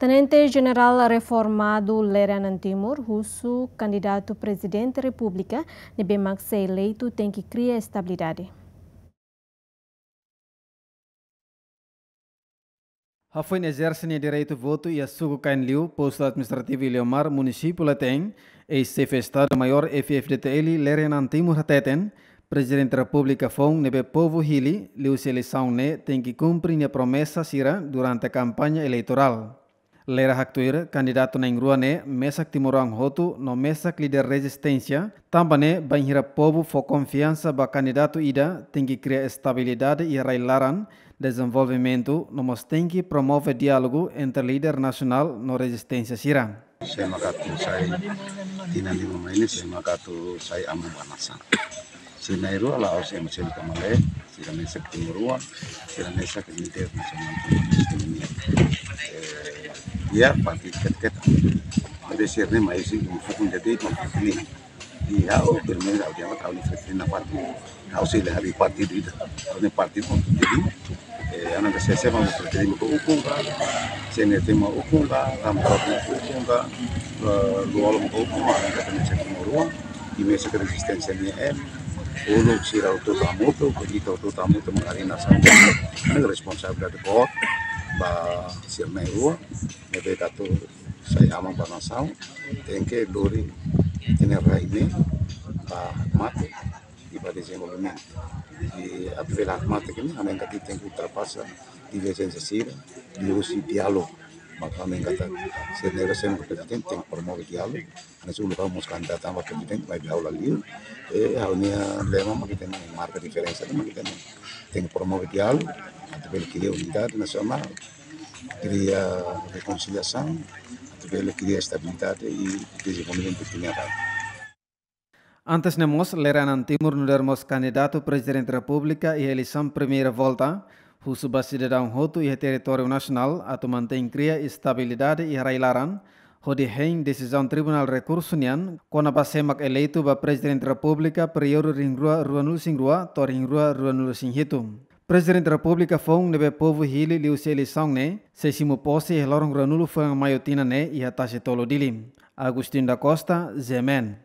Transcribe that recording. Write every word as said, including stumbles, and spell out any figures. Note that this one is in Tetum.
Tenente Jenerál reformadu Lere Anan Timur husu kandidatu Prezidente Repúblika ne'ebé mak sei eleitu tenke kria estabilidade. Hafoin ezerse nia direitu votu iha suku Kainliu, postu administrativu Iliomar, munisípiu Leten, eis-xefe Estadu Maiór F-FDTL Lere Anan Timur hateten, Prezidente Repúblika foun ne'ebé povu hili liuhusi eleisaun ne'e tenke kumpre nia promesa sira durante kampaña eleitorál. Lere haktuir, kandidatu na'in-rua ne'e mesak timoroan hotu no mesak líder rezisténsia, tanba ne'e bainhira povu fó konfiansa ba kandidatu ida, tenke kria estabilidade iha rai-laran, dezenvolvimentu, no mós tenke promove diálogu entre líder nasionál no rezisténsia sira. Sé maka atu sai tinan lima mai ne'e, sé maka atu sai aman ba nasaun. Sira na'in-rua la'ós ema seluk ka maluk, sira mesak timoroan, sira mesak líder nasionál Timor-Leste nian. Eh, iha partidu ketak-ketak. Entaun sira ne'e mai husi fukun jadi, fukun ini. I ha'u, pelo menos, ha'u di'ak, ha'u-nia Fretilin partidu. Ha'u sei la harii partidu ida. Ha'u-nia partidu, jadi, eh, ha'u-nia sé-sé mak Fretilin mak ukun ka, CNRT mak ukun ka, Ramo Tauk mak ukun ka, eh, Lú-Olo mak ukun ka, ha'u-nia sé timoroan, i mesak rezisténsia nian, uluk sira hotu hamutuk, ita hotu hamutuk mak harii nasaun. Ha'u-nia responsabilidade boot ba sira na'in-rua, ne'ebé atu sai aman ba nasaun, tenke lori ita-nia rai ne'e ba hakmatek i ba dezenvolvimentu. I atu bele hakmatek ne'e, ha'u hanoin katak tenke ultrapasa diverjénsia sira, liuhusi diálogu. Maka ha'u hanoin katak sira na'in-rua sé mak prezidente tenke promove diálogu. Hanesan uluk ha'u mós kandidata ba prezidente, maibé ha'u la liu. I ha'u-nia lema mak ita-nia marka diferensa, mak ita-nia tenke promove diálogu, atu bele kria unidade nasionál, kria rekonsiliasaun, atu bele kria estabilidade i dezenvolvimentu iha ita-nia rai. Antes ne'e mós, Lere Anan Timur nu'udar mós kandidatu Prezidente Repúblika iha eleisaun primeira volta, husu ba sidadaun hotu iha territóriu nasionál atu mantein kria estabilidade iha rai-laran, hodi hein desizaun Tribunál Rekursu nian, kona-ba sé mak eleitu ba Prezidente Repúblika períodu rihun rua ruanulu-resin-rua to'o rihun rua ruanulu-resin-hitu. Prezidente Repúblika foun ne'ebé povu hili liuhusi eleisaun ne'e, sei simu pose iha loron ruanulu fulan Maiu tinan ne'e iha Tasi Tolu, Dili. Agostinho da Costa, G M N.